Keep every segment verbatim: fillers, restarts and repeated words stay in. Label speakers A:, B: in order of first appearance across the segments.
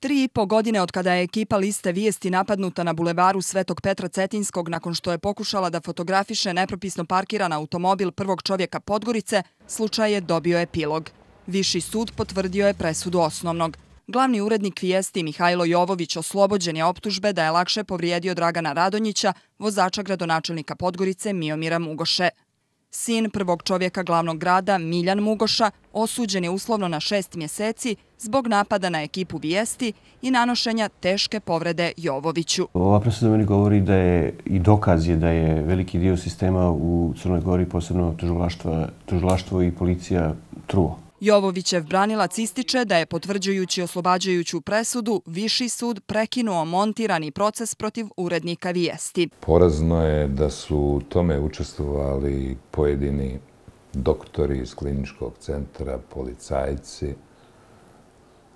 A: Tri i po godine od kada je ekipa Liste vijesti napadnuta na bulevaru Svetog Petra Cetinskog nakon što je pokušala da fotografiše nepropisno parkiran automobil prvog čovjeka Podgorice, slučaj je dobio epilog. Viši sud potvrdio je presudu osnovnog. Glavni urednik Vijesti Mihajlo Jovović oslobođen je optužbe da je lakše povrijedio Dragana Radonjića, vozača gradonačelnika Podgorice Miomira Mugoše. Sin prvog čovjeka glavnog grada, Miljan Mugoša, osuđen je uslovno na šest mjeseci zbog napada na ekipu Vijesti i nanošenja teške povrede Jovoviću.
B: Ova presuda meni govori da je i dokaz je da je veliki dio sistema u Crnoj Gori, posebno tužilaštvo i policija, truo.
A: Jovovićev branilac ističe da je, potvrđujući oslobađajuću presudu, Viši sud prekinuo montirani proces protiv urednika Vijesti.
C: Porazno je da su u tome učestvovali pojedini doktori iz kliničkog centra, policajci,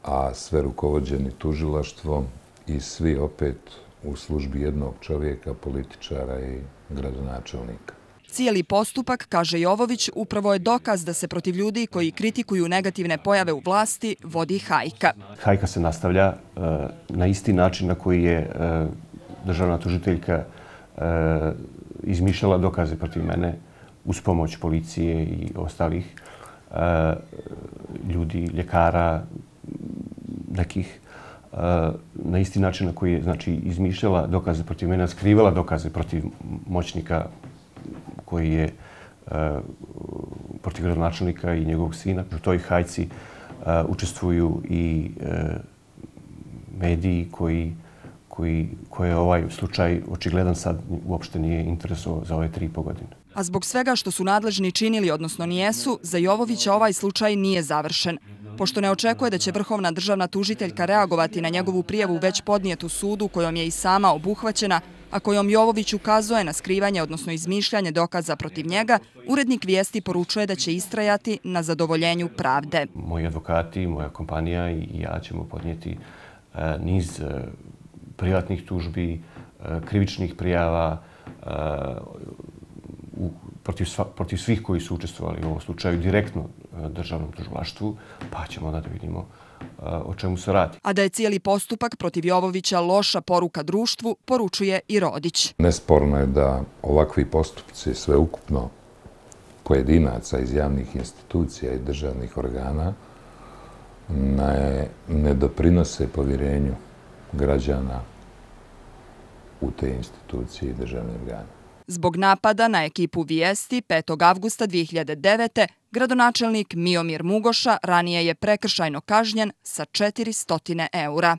C: a sve rukovođeni tužilaštvom i svi opet u službi jednog čovjeka, političara i gradonačelnika.
A: Cijeli postupak, kaže Jovović, upravo je dokaz da se protiv ljudi koji kritikuju negativne pojave u vlasti vodi hajka.
B: Hajka se nastavlja na isti način na koji je državna tužiteljka izmišljala dokaze protiv mene uz pomoć policije i ostalih ljudi, ljekara, nekih, na isti način na koji je, znači, izmišljala dokaze protiv mene, skrivala dokaze protiv moćnika koji je protiv gradonačelnika i njegovog sina. U toj hajci učestvuju i mediji koje je ovaj slučaj očigledan sad uopšte nije interesovao za ove tri i po godine.
A: A zbog svega što su nadležni činili, odnosno nijesu, za Jovovića ovaj slučaj nije završen. Pošto ne očekuje da će vrhovna državna tužiteljka reagovati na njegovu prijavu već podnijetu sudu kojom je i sama obuhvaćena, a kojom Jovović ukazuje na skrivanje, odnosno izmišljanje dokaza protiv njega, urednik Vijesti poručuje da će istrajati na zadovoljenju pravde.
B: Moji advokati, moja kompanija i ja ćemo podnijeti niz privatnih tužbi, krivičnih prijava protiv svih koji su učestvovali u ovom slučaju direktno državnom tužilaštvu, pa ćemo onda da vidimo o čemu se radi.
A: A da je cijeli postupak protiv Jovovića loša poruka društvu, poručuje i Rodić.
C: Nesporno je da ovakvi postupci sveukupno pojedinaca iz javnih institucija i državnih organa ne doprinose povjerenju građana u te institucije i državne organe.
A: Zbog napada na ekipu Vijesti petog avgusta dvije hiljade devete. gradonačelnik Miomir Mugoša ranije je prekršajno kažnjen sa četiristo eura.